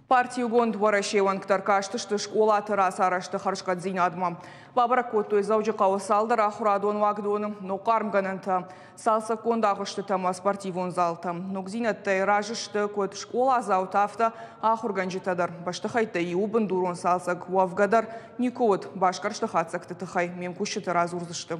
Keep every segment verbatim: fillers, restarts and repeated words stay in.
Парти Иугонд Уӕрӕсе уӕнгтӕ ӕркастысты скъолаты рацарӕзты хӕрзхъӕддзинадмӕ. Бабӕрӕг кодтой Дзӕуджыхъӕуы цалдӕр ахуырадон уагдоны, ног хъармгӕнӕнтӕ, цалцӕггонд агъуыстытӕ ӕмӕ спортивон залтӕ. Ногдзинӕдтӕй разы сты куыд скъоладзаутӕ, афтӕ ахуыргӕнджытӕ дӕр. Бӕстыхӕйттӕй иуы бындурон цалцӕг уӕвгӕ дӕр никуы уыд. Басгӕрсты хатдзӕгты тыххӕй ме мкусджытӕ радзурдзысты.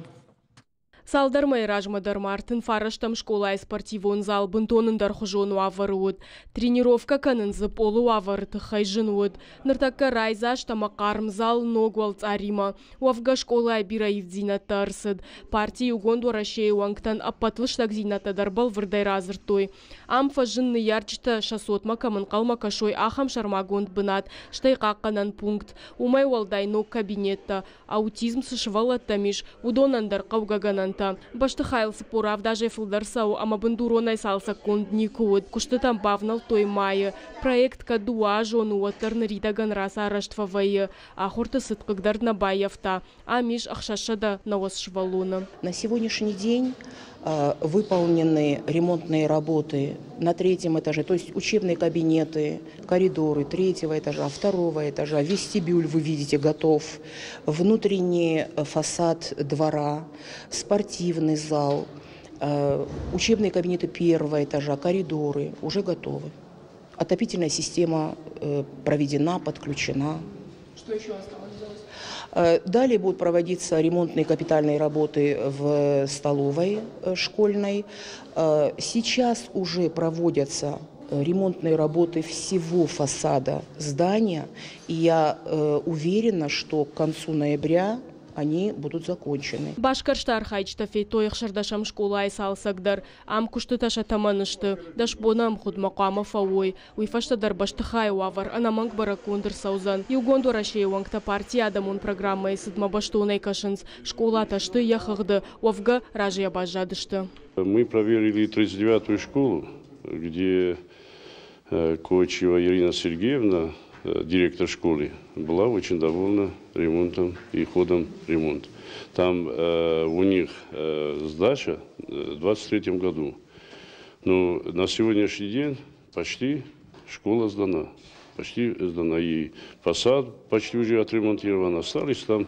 Цалдӕр мӕйы размӕ дӕр ма ӕртын фарӕстӕм скъолайы спортивон зал бынтон ӕндӕрхуызон уавӕры уыд. Тренировкӕ кӕнын дзы пъолы уавӕры тыххӕй зын уыд. Ныртӕккӕ райдзаст ӕмӕ хъарм зал ног уӕлцъаримӕ. Уӕвгӕ скъолайы бирӕ ивддзинӕдтӕ ӕрцыд. Парти Иугонд Уӕрӕсейы уӕнгтӕн ӕппӕт лыстӕгдзинӕдтӕ дӕр бӕлвырдӕй радзырдтой. Ам фӕзынд, ныййарджытӕ сӕ цотмӕ кӕм ӕнхъӕлмӕ кӕсой, ахӕм сӕрмагонд бынат, стӕй хъахъхъӕнӕн пункт. Уымӕй уӕлдай ног кабинеттӕ. Аутизм цы сывӕллӕттӕм ис, уыдонӕн дӕр хъӕугӕ гӕнӕнтӕ. Бӕстыхайыл цыппор авд азӕй фылдӕр цӕуы ӕмӕ бындуронӕй цалцӕггонд никуы уыд. Куыстытӕм бавнӕлдтой майы. Проект кӕд дыууӕазон у, уӕддӕр ныридӕгӕн рацарӕзт фӕвӕййы. Ахуырты цыд хъыгдард нӕ баййӕфта. Ам ис ӕхсӕзсӕдӕ нӕуӕдз сывӕллоны. На сегодняшний день выполнены ремонтные работы на третьем этаже, то есть учебные кабинеты, коридоры третьего этажа, второго этажа, вестибюль, вы видите, готов, внутренний фасад двора, спортивный зал, учебные кабинеты первого этажа, коридоры уже готовы. Отопительная система проведена, подключена. Что еще осталось сделать? Далее будут проводиться ремонтные капитальные работы в столовой школьной. Сейчас уже проводятся ремонтные работы всего фасада здания. И я уверена, что к концу ноября они будут закончены. Басгӕрсты архайджытӕ федтой ӕхсӕрдӕсӕм скъолайы цалцӕг дӕр. Ам куыстытӕ сӕ тӕмӕны сты. Дӕс боны ӕмгъуыдмӕ хъуамӕ фӕуой. Уый фӕстӕ дӕр бӕстыхайы уавӕр ӕнӕмӕнг бӕрӕггонд ӕрцӕудзӕн. Иугонд Уӕрӕсейы уӕнгтӕ партийы адӕмон программӕйы цыдмӕ бӕстонӕй кӕсынц. Скъолатӕ сты йӕ хыгъды. Уӕвгӕ разыйӕ баззадысты. Мы проверили тридцать девятую школу, где Кочева Ирина Сергеевна, директор школы, была очень довольна ремонтом и ходом ремонта. Там э, у них э, сдача в двадцать третьем году. Но на сегодняшний день почти школа сдана. Почти сдана. И фасад почти уже отремонтирован. Остались там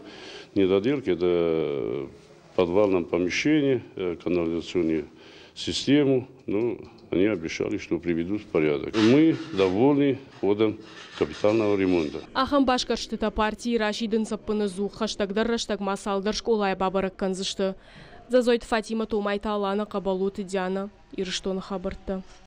недоделки. Это в подвальном помещении, канализационную систему. Ну, они обещали, что приведут в порядок. Мы довольны ходом капитального ремонта. Ахӕм басгӕрстытӕ партийы расидынц ӕппынӕдзух, хӕстӕгдӕр рӕстӕг ма цалдӕр скъолайы бабӕрӕг кӕндзысты. Дзӕзойты Фатимӕ, Томайты Алана, Хъӕбӕлоты Диана, Ирыстоны хабӕрттӕ.